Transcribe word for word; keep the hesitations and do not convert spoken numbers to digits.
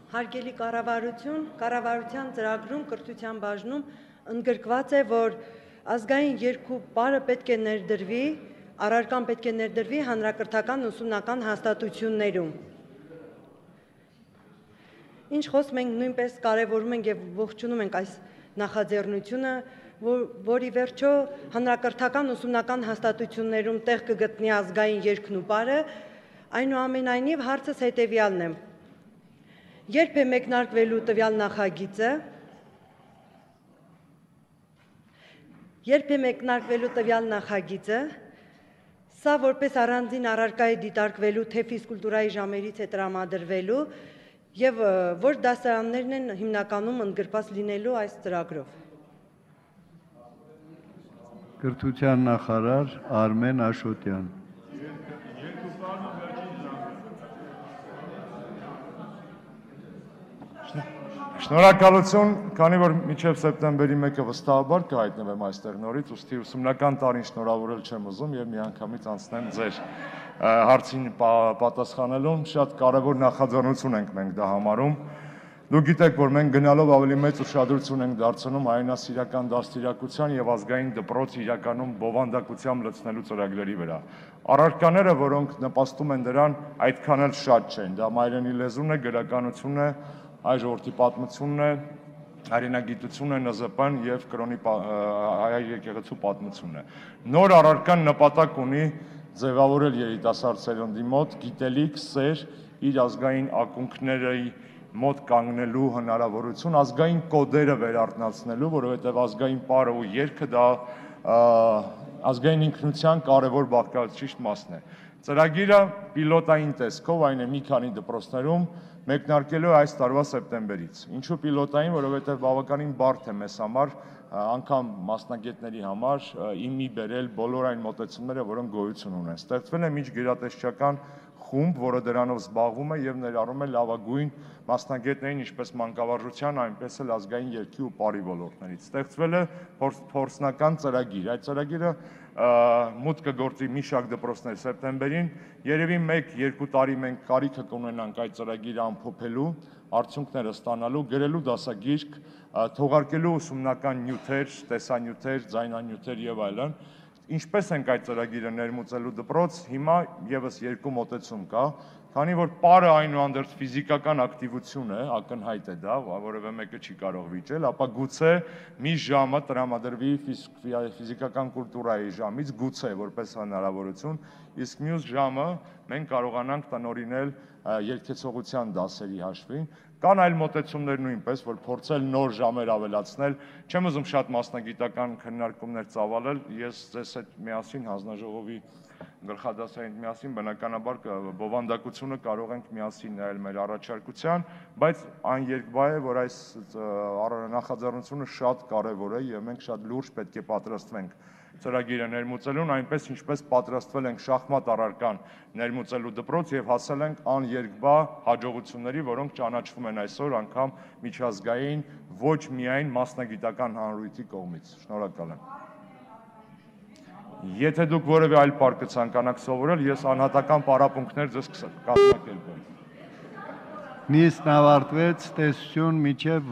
Հարգելի կառավարություն, կառավարության ծրագրում կրթության բաժնում ընդգրկված է, որ ազգային երկու պարը պետք է ներդրվի, առարկան պետք է ներդրվի հանրակրթական ուսումնական հաստատություններում։ Ինչ խոսք մենք նույնպես կարևորում ենք եւ ողջունում ենք այս նախաձեռնությունը, որի վերջո հանրակրթական ուսումնական հաստատություններում տեղ կգտնի ազգային երկն ու պարը, այնուամենայնիվ հարցս հետեւյալն է. Երբ է մեկնարկվելու տվյալ նախագիծը, երբ է մեկնարկվելու տվյալ նախագիծը, սա որպես առանձին առարկա է դիտարկվելու, թե ֆիզկուլտուրայի ժամերից է տրամադրվելու եւ որ դասարաններն են հիմնականում ընդգրկված լինելու այս ծրագրով։ Կրթության նախարար Արմեն Աշոտյան։ Շնորհակալություն, քանի որ մինչև սեպտեմբերի մեկը վստահաբար կհայտնվեմ այստեղ նորից, ուստի ուսումնական տարին շնորհավորել չեմ ուզում եւ միանգամից անցնեմ ձեր հարցին պատասխանելուն, շատ կարևոր նախաձեռնություն ենք մենք դա համարում։ Դուք գիտեք, որ մենք գնալով ավելի մեծ ուշադրություն ենք դարձնում հայրենասիրական դաստիարակության եւ ազգային դպրոց իրականում բովանդակությամբ լցնելու ծրագրերի վրա։ Առարկաները, որոնք նպաստում են դրան, այդքան էլ շատ չեն։ Դա մայրենի լեզուն է, գրականությունն է, հայ ժողովրդի պատմությունն է, հայրենագիտությունն է, Ն Զ Պ-ն եւ կրոնի հայ եկեղեցու պատմությունն է։ Նոր առարկան նպատակ ունի ձևավորել երիտասարդ սերնդի մոտ գիտելիք, սեր, իր ազգային ակունքների մոտ կանգնելու հնարավորություն, ազգային կոդերը վերարթնացնելու, որովհետև ազգային պարը ու երգը դա ազգային ինքնության կարևոր բաղկացուցիչ մասն է։ Ծրագիրը պիլոտային տեսքով, այն է մի քանի դպրոցներում, մեկնարկելու այս տարվա սեպտեմբերից։ Ինչու պիլոտային, որովհետև բավականին բարդ է մեզ համար, անգամ մասնագետների համար իմի բերել բոլոր այն մոտեցումները, որոնք գոյություն ունեն։ Ստեղծվել է միջգերատեսչական խումբ, որը դրանով զբաղվում է եւ ներառում է լավագույն մասնագետներին ինչպես մանկավարժության, այնպես էլ ազգային երգի ու պարի ոլորտներից։ Ստեղծվել է փորձնական ծրագիր։ Այդ ծրագիրը մուտք կգործի մի շարք դպրոցներ սեպտեմբերին, երևի մեկ-երկու տարի մենք կարիքը կունենանք այդ ծրագիրը ամփոփելու, արդյունքները ստանալու, գրելու դասագիրք, թողարկելու ուսումնական նյութեր, տեսանյութեր, ձայնանյութեր եւ այլն։ Ինչպես ենք այդ ծրագիրը ներմուծելու դպրոց, հիմա եւս երկու մոտեցում կա, քանի որ պարը այնուհանդերձ ֆիզիկական ակտիվություն է, ակնհայտ է դա, որևէ մեկը չի կարող վիճել, ապա գուցե մի ժամը տրամադրվի ֆիզիկական կուլտուրայի ժամից, գուցե որպես հնարավորություն, իսկ մյուս ժամը մենք կարողանանք տնօրինել երգեցողության դասերի հաշվին։ Կան այլ մոտեցումներ նույնպես, որ փորձել նոր ժամեր ավելացնել, չեմ ուզում շատ մասնագիտական քննարկումներ ծավալել, ես ձեզ հետ միասին հանձնաժողովի գլխադասային միասին բնականաբար բովանդակությունը կարող ենք միասին նայել մեր առաջարկության, բայց այն երկբայ է, որ այս նախաձեռնությունը շատ կարևոր է եւ մենք շատ լուրջ պետք է պատրաստվենք ծրագիրը ներմուծելուն, այնպես ինչպես պատրաստվել ենք շախմատ առարկան ներմուծելու դպրոց եւ հասել ենք աներկբա հաջողությունների, որոնք ճանաչվում են այսօր անգամ միջազգային, ոչ միայն մասնագիտական հանրույթի կողմից։ Շնորհակալ եմ։ Եթե դուք որևէ այլ պար կցանկանաք սովորել, ես անհատական պարապմունքներ ձեզ կկազմակերպեմ։ Նիստն ավարտվեց, տեսություն մինչև